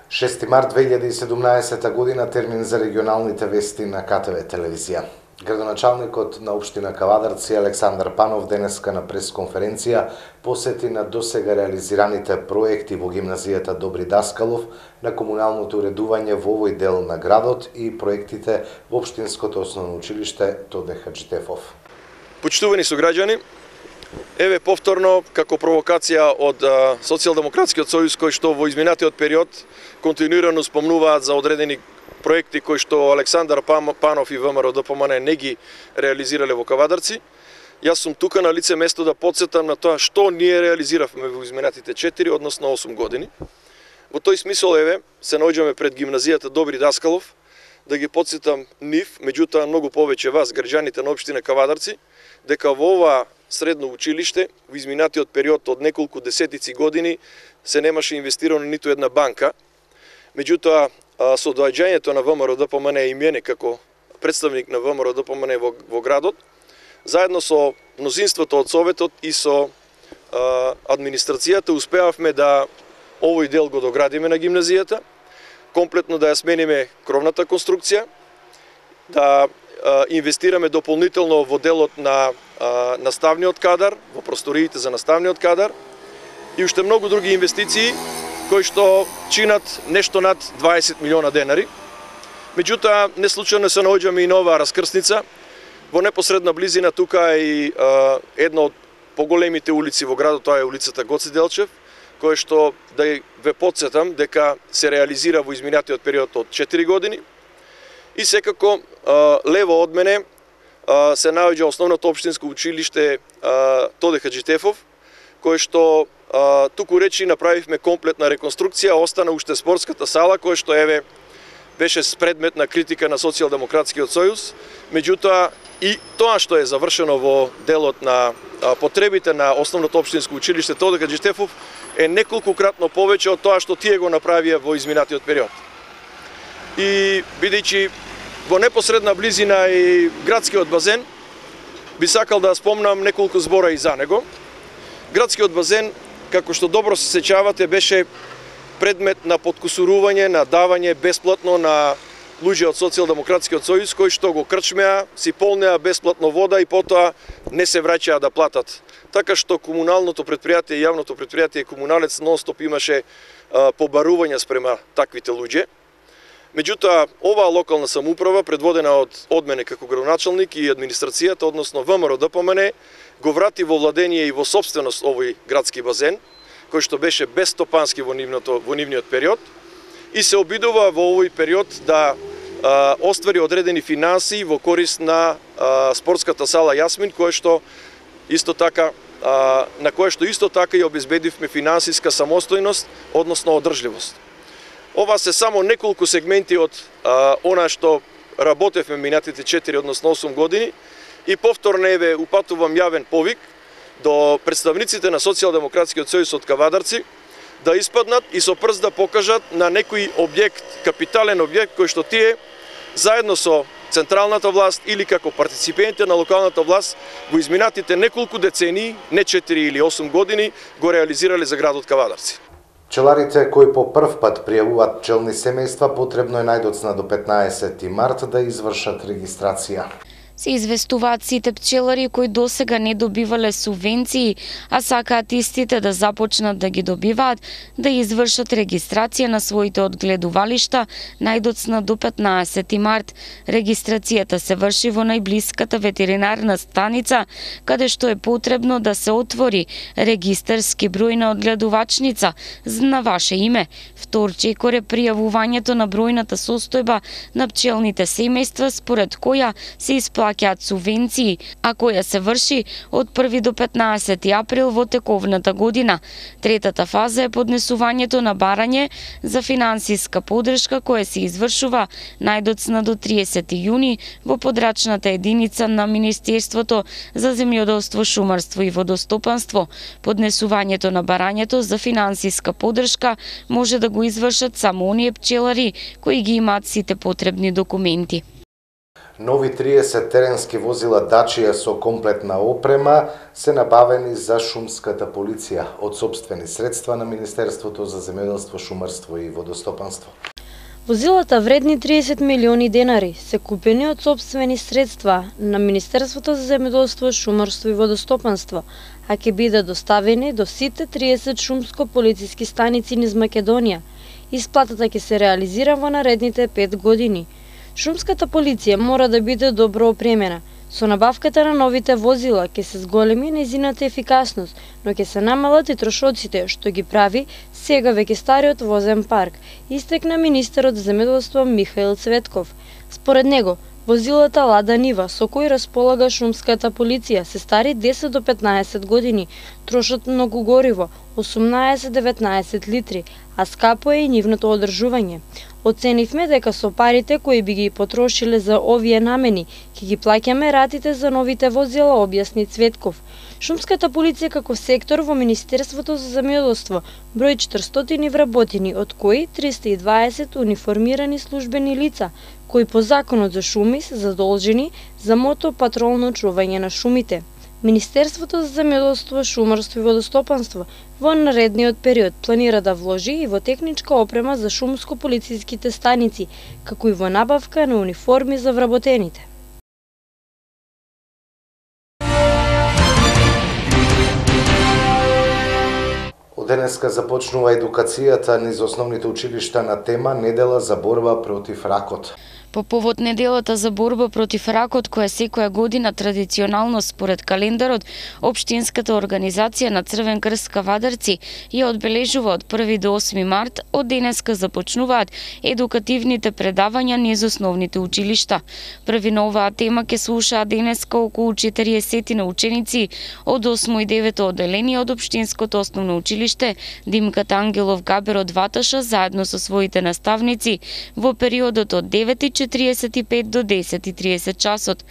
6 март 2017 година, термин за регионалните вести на КТВ телевизија. Градоначалникот на општина Кавадарци Александар Панов денеска на пресконференција посети на досега реализираните проекти во гимназијата Добри Даскалов, на комуналното уредување во овој дел на градот и проектите во општинското основно училиште Тоде Хаджитефов. Почитувани сограѓани, еве повторно како провокација од Социјалдемократскиот сојуз кој што во изминатиот период континуирано спомнуваат за одредени проекти кои што Александар Панов и ВМРО ДПМН не ги реализирале во Кавадарци. Јас сум тука на лице место да потсетам на тоа што ние реализиравме во изминатите 4, односно 8 години. Во тој смисол еве се наоѓаме пред гимназијата Добри Даскалов да ги потсетам нив, меѓутоа многу повеќе вас, граѓаните на општина Кавадарци, дека во ова средно училиште во изминатиот период од неколку десетици години се немаше инвестирано ниту една банка. Меѓутоа, со доаѓањето на ВМРО ДПМН и мене како представник на ВМРО ДПМН во градот, заедно со мнозинството од Советот и со администрацијата успеавме да овој дел го доградиме на гимназијата, комплетно да ја смениме кровната конструкција, да инвестираме дополнително во делот на наставниот кадар, во просториите за наставниот кадар и уште многу други инвестиции кои што чинат нешто над 20 милиона денари. Меѓутоа, не случајно се наоѓаме и на оваа раскрсница. Во непосредна близина тука е и една од поголемите улици во градот, тоа е улицата Гоце Делчев, кој што да ве потсетам дека се реализира во изминатиот период од 4 години. И секако лево од мене се наоѓа основното општинско училиште Тоде Хаджитефов, кој што туку речи направивме комплетна реконструкција, остана уште спортската сала која што еве беше предмет на критика на Социјалдемократскиот сојуз, меѓутоа и тоа што е завршено во делот на потребите на основното општинско училиште Тоде Хаджитефов е неколкукратно повеќе од тоа што тие го направија во изминатиот период. И бидејќи во непосредна близина и градскиот базен, би сакал да спомнам неколку збора и за него. Градскиот базен, како што добро се сеќавате, беше предмет на подкусурување, на давање бесплатно на луѓе од Социјалдемократскиот сојуз кои што го крчмеа, си полнеа бесплатно вода и потоа не се враќаа да платат. Така што комуналното предпријатие, јавното предпријатие Комуналец нон-стоп имаше побарување спрема таквите луѓе. Меѓутоа, оваа локална самоуправа, предводена од мене како градоначалник и администрацијата, односно ВМРО ДПМН, го врати во владение и во собственост овој градски базен, кој што беше безстопански во нивниот период, и се обидува во овој период да оствари одредени финанси во корист на спортската сала Јасмин, на која што исто така и обезбедивме финансиска самостојност, односно одржливост. Ова се само неколку сегменти од она што работевме минатите 4, односно 8 години, и повторно еве упатувам јавен повик до представниците на Социјалдемократскиот сојуз од Кавадарци да испаднат и со прст да покажат на некој објект, капитален објект кој што тие заедно со централната власт или како партиципенти на локалната власт во изминатите неколку децении, не 4 или 8 години, го реализирале за градот Кавадарци. Пчеларите кои по прв пат пријавуваат пчелни семејства потребно е најдоцна до 15 март да извршат регистрација. Се известуваат сите пчелари кои досега не добивале субвенции, а сакаат истите да започнат да ги добиваат, да извршат регистрација на своите одгледувалишта најдоцна до 15 март. Регистрацијата се врши во најблиската ветеринарна станица, каде што е потребно да се отвори регистарски број на одгледувачница на ваше име. Втор чекор е пријавувањето на бројната состојба на пчелните семејства според која се исплаќаат субвенции, а која се врши од 1 до 15 април во тековната година. Третата фаза е поднесувањето на барање за финансиска поддршка која се извршува најдоцна до 30 јуни во подрачната единица на Министерството за земјоделство, шумарство и водостопанство. Поднесувањето на барањето за финансиска поддршка може да го извршат само оние пчелари кои ги имаат сите потребни документи. Нови 30 теренски возила Дачија со комплетна опрема се набавени за шумската полиција од сопствени средства на Министерството за земјоделство, шумарство и водостопанство. Возилата вредни 30 милиони денари се купени од сопствени средства на Министерството за земјоделство, шумарство и водостопанство, а ќе бидат доставени до сите 30 шумско-полициски станици низ Македонија. Исплатата ќе се реализира во наредните 5 години. Шумската полиција мора да биде добро опремена. Со набавката на новите возила ќе се зголеми нејзината ефикасност, но ќе се намалат и трошоците, што ги прави сега веќе стариот возен парк, истекна министерот за земјоделство Михаил Цветков. Според него, возилата Лада Нива со кои располага шумската полиција се стари 10 до 15 години, трошат многу гориво, 18-19 литри, а скапо е и нивното одржување. Оценивме дека со парите кои би ги потрошиле за овие намени, ќе ги плаќаме ратите за новите возила, објасни Цветков. Шумската полиција како сектор во Министерството за земјоделство брои 400 вработени, од кои 320 униформирани службени лица, кои по законот за шуми се задолжени за мотопатролно чување на шумите. Министерството за земјоделство, шумарство и водостопанство во наредниот период планира да вложи и во техничка опрема за шумско-полициските станици, како и во набавка на униформи за вработените. Од денеска започнува едукацијата низ основните училишта на тема Недела за борба против ракот. По повод неделата за борба против ракот, која секоја година традиционално според календарот, Општинската организација на Црвен крст Кавадарци ја одбележува од 1 до 8 март, од денеска започнуваат едукативните предавања низ основните училишта. Први на оваа тема ќе слушаат денеска околу 40 на ученици од 8 и 9 одделение од Општинското основно училиште Димката Ангелов Габер од Ваташа заедно со своите наставници во периодот од 9:45 до 10:30 часот.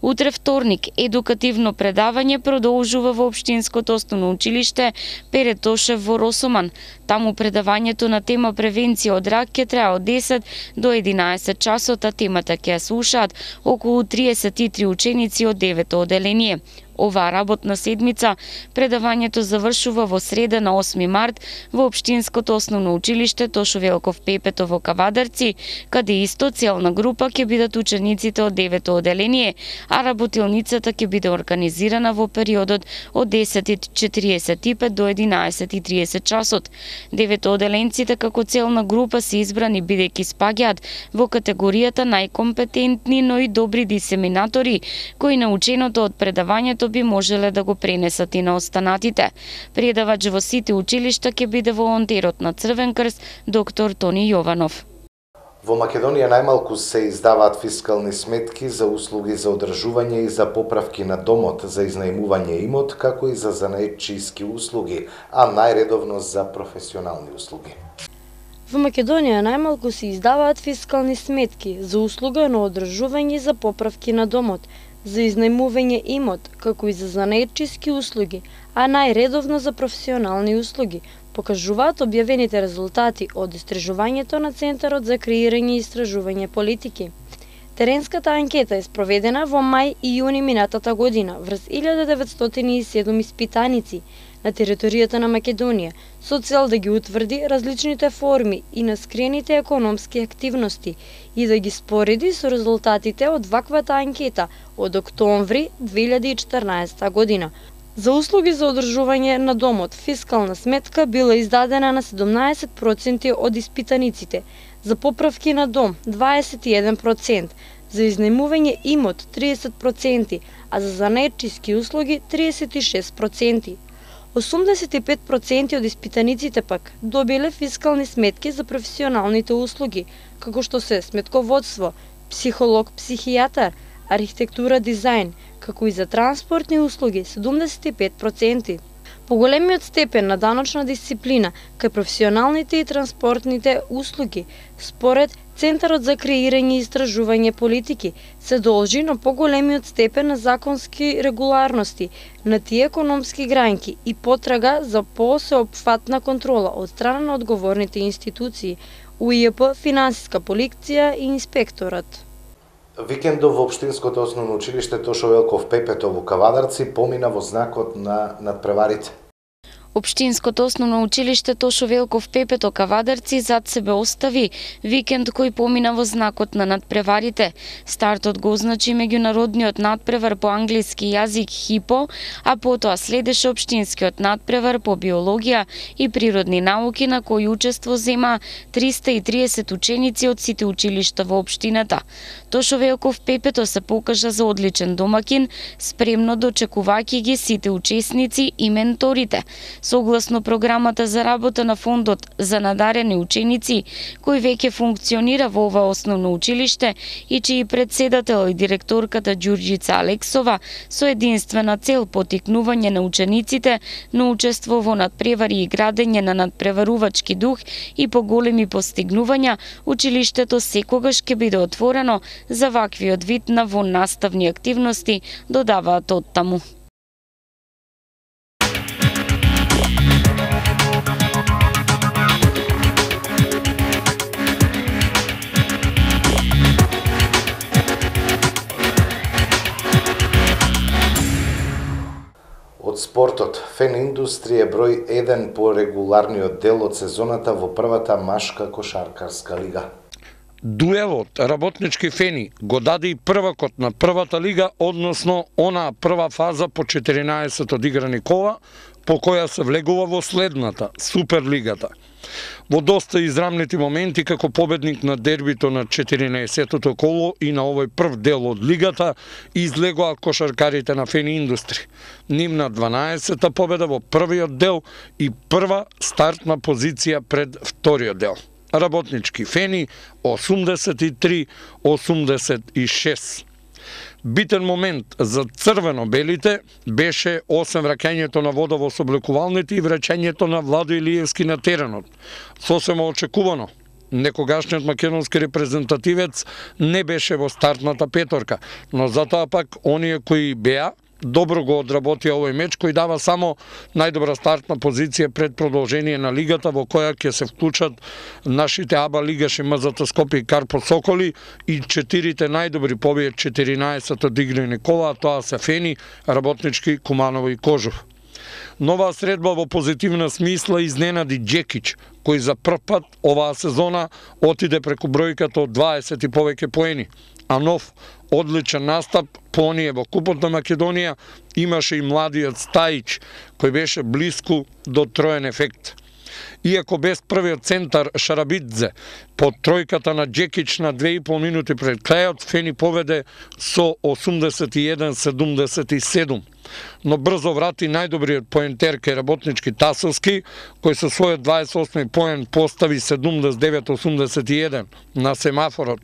Утре вторник едукативно предавање продолжува во Општинското основно училиште Пере Тошев во Росоман. Таму предавањето на тема превенција од рак ќе трае од 10 до 11 часот, а темата ќе ја слушаат околу 33 ученици од 9 одделение. Оваа работна седмица предавањето завршува во среда на 8 март во Општинското основно училиште Тошо Велков Пепето во Кавадарци, каде исто целна група ќе бидат учениците од 9 одделение, а работилницата ќе биде организирана во периодот од 10:45 до 11:30 часот. 9 одделенците како целна група се избрани бидејќи спаѓаат во категоријата најкомпетентни, но и добри дисеминатори, кои наученото од предавањето би можеле да го пренесат и на останатите. Предавач во сите училишта ќе биде волонтерот на Црвен крст доктор Тони Јованов. Во Македонија најмалку се издаваат фискални сметки за услуги за одржување и за поправки на домот, за изнајмување имот, како и за занаетчиски услуги, а најредовно за професионални услуги. Во Македонија најмалку се издаваат фискални сметки за услуга на одржување и за поправки на домот, за изнајмување имот, како и за занаетчиски услуги, а најредовно за професионални услуги, покажуваат објавените резултати од истражувањето на Центарот за креирање и истражување политики. Теренската анкета е спроведена во мај и јуни минатата година врз 1907 испитаници на територијата на Македонија, со цел да ги утврди различните форми и на скрените економски активности и да ги спореди со резултатите од ваквата анкета од октомври 2014 година. За услуги за одржување на домот, фискална сметка била издадена на 17% од испитаниците, за поправки на дом 21%, за изнајмување имот 30%, а за занаетчиски услуги 36%. 85% од испитаниците пак добиле фискални сметки за професионалните услуги, како што се сметководство, психолог, психијатар, архитектура, дизајн, како и за транспортни услуги 75%. Поголемиот степен на даночна дисциплина кај професионалните и транспортните услуги, според Центарот за креирање и истражување политики, се должи на поголемиот степен на законски регуларности на тие економски гранки и потрага за посеопфатна контрола од страна на одговорните институции, УИП, финансиска полиција и инспекторат. Викендов во Општинското основно училиште Тошо Велков Пепето во Кавадарци помина во знакот на надпреварите. Општинското основно училиште Тошо Велков Пепето Кавадарци зад себе остави викенд кој помина во знакот на надпреварите. Стартот го означи меѓународниот надпревар по англиски јазик ХИПО, а потоа следеше општинскиот надпревар по биологија и природни науки на кој учество зема 330 ученици од сите училишта во општината. Тошо Велков Пепето се покажа за одличен домакин, спремно дочекувајќи ги сите учесници и менторите. Согласно програмата за работа на фондот за надарени ученици, кој веќе функционира во ова основно училиште и чиј председател и директорката Ѓурѓица Алексова, со единствена цел поттикнување на учениците на учество во надпревари и градење на надпреварувачки дух и поголеми постигнувања, училиштето секогаш ќе биде отворено за ваквиот вид на воннаставни активности, додаваат оттаму. Од спортот, Фен Индустрија број 1 по регуларниот дел од сезоната во првата машка кошаркарска лига. Дуелот работнички Фени го даде и првакот на првата лига, односно онаа прва фаза по 14 одиграни кола, по која се влегува во следната, Суперлигата. Во доста израмнити моменти, како победник на дербито на 14-тото коло и на овој прв дел од лигата, излегоа кошаркарите на Фени Индустри. Нивна 12-та победа во првиот дел и прва стартна позиција пред вториот дел. Работнички Фени 83-86. Битен момент за црвено-белите беше 8 враќањето на вода во соблекувалните и враќањето на Владо Илиевски на теренот. Сосема очекувано. Некогашниот македонски репрезентативец не беше во стартната петорка, но затоа пак оние кои беа добро го одработија овој меч, кој дава само најдобра стартна позиција пред продолжение на лигата, во која ќе се вклучат нашите АБА лигаши МЗТ Скопје и Карпо Соколи и 4 најдобри по овие 14 одиграни кола, тоа се Фени, Работнички, Куманово и Кожув. Нова средба во позитивна смисла изненади Джекич, кој за прв пат оваа сезона отиде преку бројката од 20 и повеќе поени, а нов одличен настап по оние во Купот на Македонија имаше и младиот Стаич, кој беше блиску до троен ефект. Иако без првиот центар Шарабидзе, под тројката на Джекич на 2,5 минути пред крајот, Фени поведе со 81-77. Но брзо врати најдобриот поентер кај Работнички Тасовски, кој со својот 28 поен постави 79-81 на семафорот,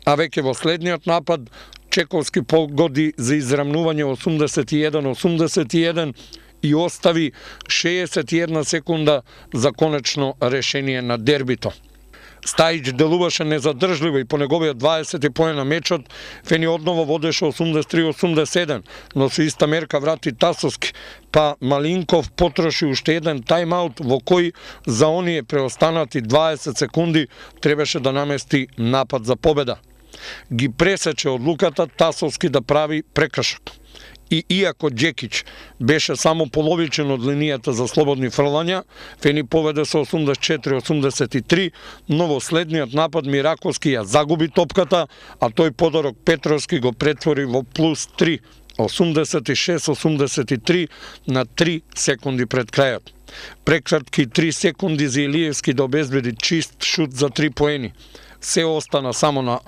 а веќе во следниот напад Чековски погоди за израмнување 81-81 и остави 61 секунда за конечно решение на дербито. Стаич делуваше незадржливо и по неговиот 20 поен на мечот, Фени одново водеше 83-87, но со иста мерка врати Тасовски, па Малинков потроши уште еден тайм-аут во кој за оние преостанати 20 секунди требаше да намести напад за победа. Ги пресече одлуката Тасовски да прави прекршок. И иако Джекич беше само половичен од линијата за слободни фрлања, Фени поведе со 84-83, но во следниот напад Мираковски ја загуби топката, а тој подарок Петровски го претвори во плюс 3, 86-83 на 3 секунди пред крајот. Прекратки 3 секунди за Илиевски да обезбеди чист шут за 3 поени. Се остана само на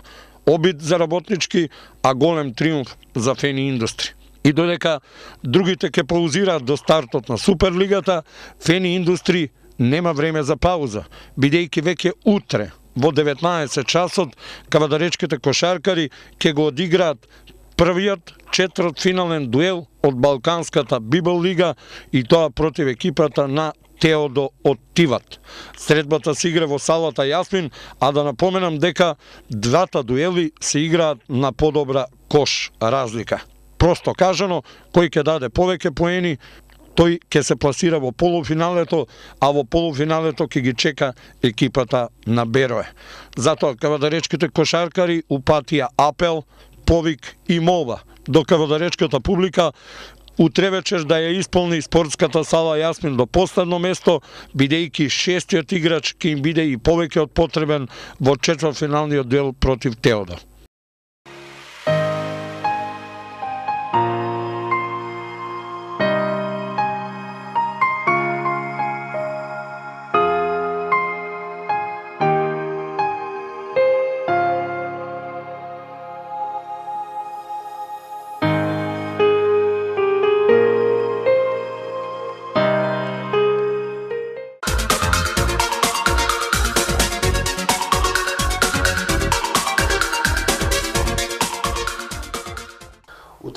обид за Работнички, а голем триумф за Фени Индустри. И додека другите ќе паузираат до стартот на Суперлигата, Фени Индустри нема време за пауза, бидејќи веќе утре во 19 часот кавадаречките кошаркари ќе го одиграат првиот четвртфинален дуел од Балканската Библ лига и тоа против екипата на Теодо од Тиват. Средбата се игра во салата Јасмин, а да напоменам дека двата дуели се играат на подобра кош разлика. Просто кажано, кој ќе даде повеќе поени, тој ќе се пласира во полуфиналето, а во полуфиналето ќе ги чека екипата на Берое. Затоа кавадаречките кошаркари упатија апел повик и молба до кавадаречката публика утре вечер да ја исполни спортската сала Јасмин до последно место, бидејќи шестиот играч ќе им биде и повеќе од потребен во четвртфиналниот дуел против Теодор.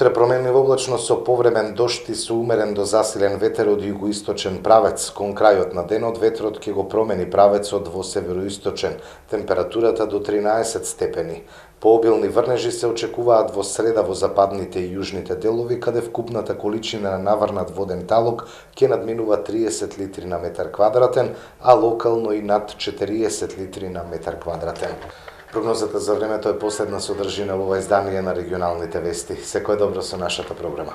Утре променлива облачност со повремен дожд и со умерен до засилен ветер од југоисточен правец. Кон крајот на денот ветрот ќе го промени правецот во североисточен, температурата до 13 степени. Пообилни врнежи се очекуваат во среда во западните и јужните делови, каде вкупната количина на наврнат воден талог ќе надминува 30 литри на метар квадратен, а локално и над 40 литри на метар квадратен. Прогнозата за времето е последна содржина во ова издание на регионалните вести. Секое добро со нашата програма.